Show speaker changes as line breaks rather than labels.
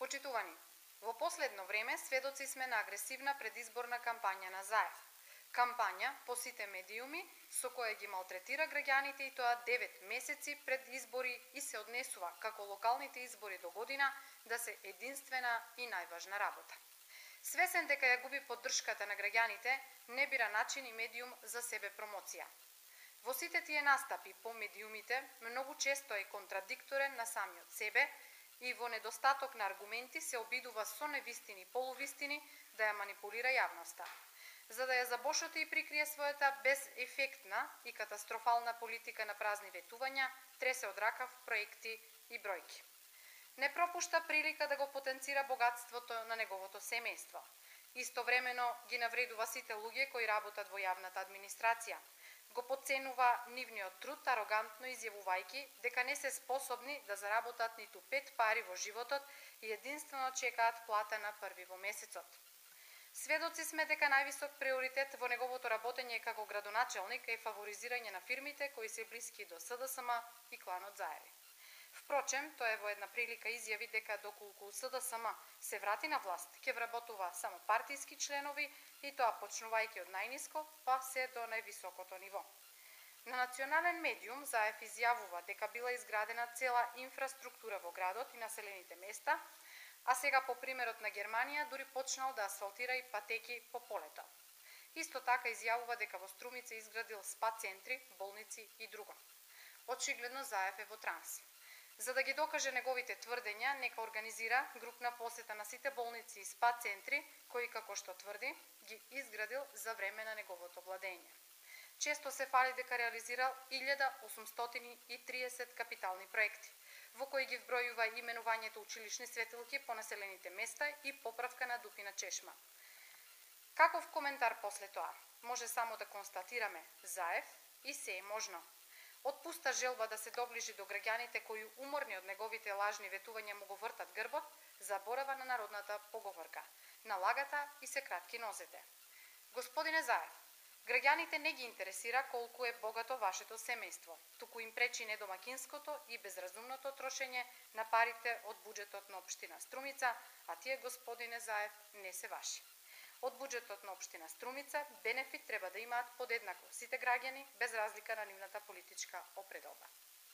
Почитувани, во последно време сведоци сме на агресивна предизборна кампања на ЗАЕФ. Кампања по сите медиуми со која ги малтретира граѓаните и тоа 9 месеци пред избори и се однесува како локалните избори до година да се единствена и најважна работа. Свесен дека ја губи поддршката на граѓаните, не бира начин и медиум за себе промоција. Во сите тие настапи по медиумите многу често е контрадикторен на самиот себе и во недостаток на аргументи се обидува со невистини и полувистини да ја манипулира јавноста. За да ја забошоти и прикрие својата безефектна и катастрофална политика на празни ветувања, тресе од ракав проекти и бројки. Не пропушта прилика да го потенцира богатството на неговото семејство. Истовремено ги навредува сите луѓе кои работат во јавната администрација. Го потценува нивниот труд арогантно изјавувајќи дека не се способни да заработат ниту 5 пари во животот и единствено чекаат плата на први во месецот. Сведоци сме дека највисок приоритет во неговото работење како градоначелник е фаворизирање на фирмите кои се блиски до СДСМ и кланот Заеви. Впрочем, тој во една прилика изјави дека доколку СДСМ се врати на власт, ќе вработува само партиски членови и тоа почнувајќи од најниско па се до највисокото ниво. На национален медиум ЗАЕФ изјавува дека била изградена цела инфраструктура во градот и населените места, а сега по примерот на Германија дури почнал да асфалтира и патеки по полето. Исто така изјавува дека во Струмица изградил спа центри, болници и друго. Очигледно ЗАЕФ е во транс. За да ги докаже неговите тврдења, нека организира групна посета на сите болници и спа центри, кои, како што тврди, ги изградил за време на неговото владење. Често се фали дека реализирал 1830 капитални проекти, во кои ги вбројува именувањето училишни светилки по населените места и поправка на дупина чешма. Каков коментар после тоа? Може само да констатираме, ЗАЕФ и се е можно. Отпуста желба да се доближи до граѓаните кои уморни од неговите лажни ветувања му го вртат грбот, заборава на народната поговорка. На лагата и се кратки нозете. Господине ЗАЕФ, граѓаните не ги интересира колку е богато вашето семејство, туку им пречи недомакинското и безразумното трошење на парите од буџетот на општина Струмица, а тие, господине ЗАЕФ, не се ваши. Од буџетот на општина Струмица бенефит треба да имаат подеднакво сите граѓани без разлика на нивната политичка опредодба.